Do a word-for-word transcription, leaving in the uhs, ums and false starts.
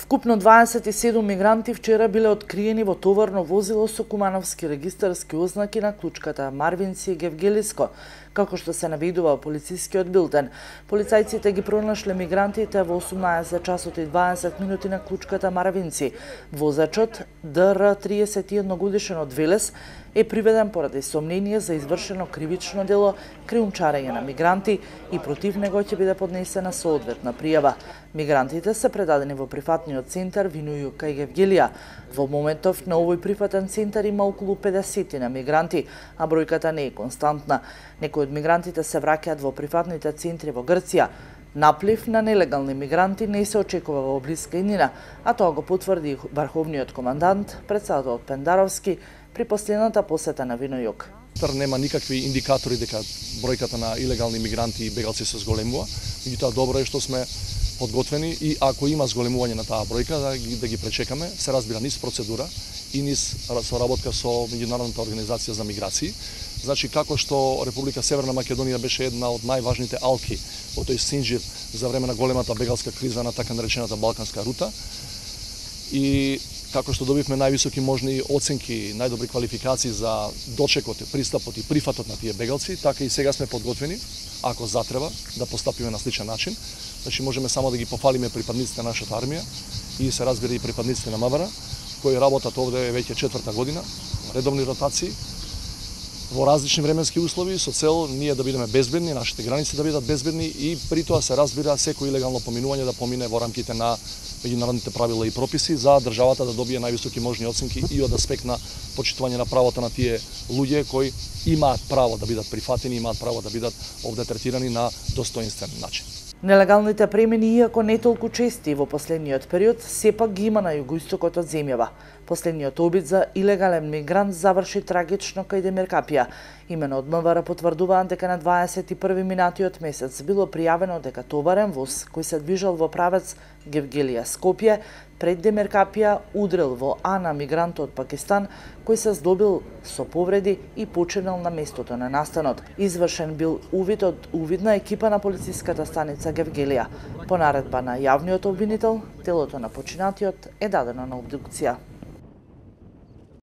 Вкупно дваесет и седум мигранти вчера биле откриени во товарно возило со кумановски регистарски ознаки на клучката Марвинци и Гевгелиско, како што се наведува полицискиот билтен. Полицајците ги пронашле мигрантите во осумнаесет часот и дваесет минути на клучката Марвинци. Возачот Д Р триесет и едно годишен од Велес е приведен поради сомнение за извршено кривично дело криумчарење на мигранти и против него ќе биде поднесена соодветна пријава. Мигрантите се предадени во прифатниот центар Винују кај Гевгелија. Во моментов на овој прифатен центар има околу педесет на мигранти, а бројката не е константна. Некои од мигрантите се враќаат во прифатните центри во Грција. Наплив на нелегални мигранти не се очекува во блиска иднина, а тоа го потврди врховниот командант, председателот Пендаровски, при последната посета на Винојук. Нема никакви индикатори дека бројката на илегални мигранти и бегалци се зголемува, меѓутоа добро е што сме подготвени и ако има зголемување на таа бројка да ги, да ги пречекаме, се разбира низ процедура и низ соработка со меѓународната организација за миграции. Значи како што Република Северна Македонија беше една од најважните алки во тој синџир за време на големата бегалска криза на така наречената Балканска рута и како што добивме највисоки можни оценки, најдобри квалификации за дочекот, пристапот и прифатот на тие бегалци, така и сега сме подготвени, ако затреба, да постапиме на сличен начин. Значи можеме само да ги пофалиме припадниците на нашата армија и се разбира и припадниците на МВР, кои работат овде веќе четврта година, редовни ротации, во различни временски услови, со цел ние да бидеме безбедни, нашите граници да бидат безбедни и при тоа се разбира секој илегално поминување да помине во рамките на меѓународните правила и прописи за државата да добие највисоки можни оценки и од аспект на почитување на правото на тие луѓе кои имаат право да бидат прифатени, имаат право да бидат овде третирани на достоинствен начин. Нелегалните премини, иако не толку чести во последниот период, сепак ги има на југоистокот од земјава. Последниот обид за илегален мигрант заврши трагично кај Демиркапија. Имено од МВР потврдуваат дека на дваесет и први минатиот месец било пријавено дека товарен воз кој се движел во правец Гевгелија-Скопје пред Демиркапија удрил во Ана мигрант од Пакистан кој се здобил со повреди и починал на местото на настанот. Извршен бил увид од увидна екипа на полициската станица Гевгелија. По наредба на јавниот обвинител, телото на починатиот е дадено на обдукција.